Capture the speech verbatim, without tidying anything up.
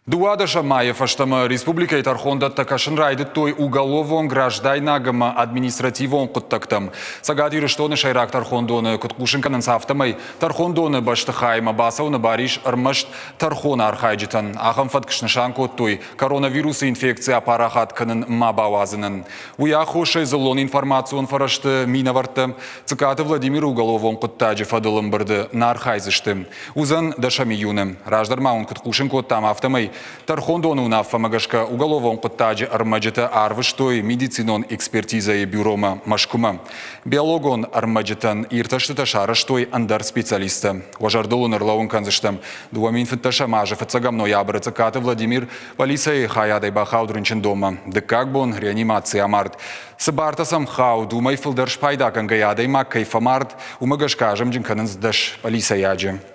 Дыууадӕсӕм майы фӕстӕмӕ республикӕйы тӕрхондӕттӕ кӕсын райдыдтой уголовон, граждайнаг ӕмӕ административон хъуыддӕгтӕм. Цӕгат Ирыстоны сӕйраг тӕрхондоны куыд хъусын кӕнынц, афтӕмӕй тӕрхондоны бӕстыхаймӕ бацӕуыны бар ис ӕрмӕст тӕрхоны архайджытӕн. Ахӕм фӕтк снысан кодтой коронавирусы инфекци апарахат кӕнын ма бауадзынӕн. Уый аххосӕй дзыллон информацион фӕрӕзты минӕвӕрттӕ Цыкаты Владимиры уголовон хъуыддаджы фӕдыл ӕмбырды нӕ архайдзысты. Уыдзӕн дӕсӕм июны. Раздӕр ма уын куыд хъусын кодтам, афтӕмӕй тӕрхондоны уынаффӕмӕ гӕсгӕ уголовон хъуыддаджы ӕрмӕджытӕ арвыстой медицинон экспертизӕйы бюромӕ Мӕскуымӕ. Биологон ӕрмӕджытӕн иртӕстытӕ сарӕзтой ӕндӕр специалисттӕ. Уӕ зӕрдыл уын ӕрлӕууын кӕндзыстӕм, дыууӕ мин фынддӕсӕм азы фыццӕгӕм ноябры Цыкаты Владимир полицӕйы хайадӕй бахауд рынчындонмӕ. Дыккаг бон реанимацийы амард. Цы бартӕ сӕм хауд, уымӕй фылдӕр спайда кӕнгӕйӕ адӕймаг кӕй фӕмард, уымӕ гӕсгӕ азымджын кӕнынц дӕс полицӕйаджы.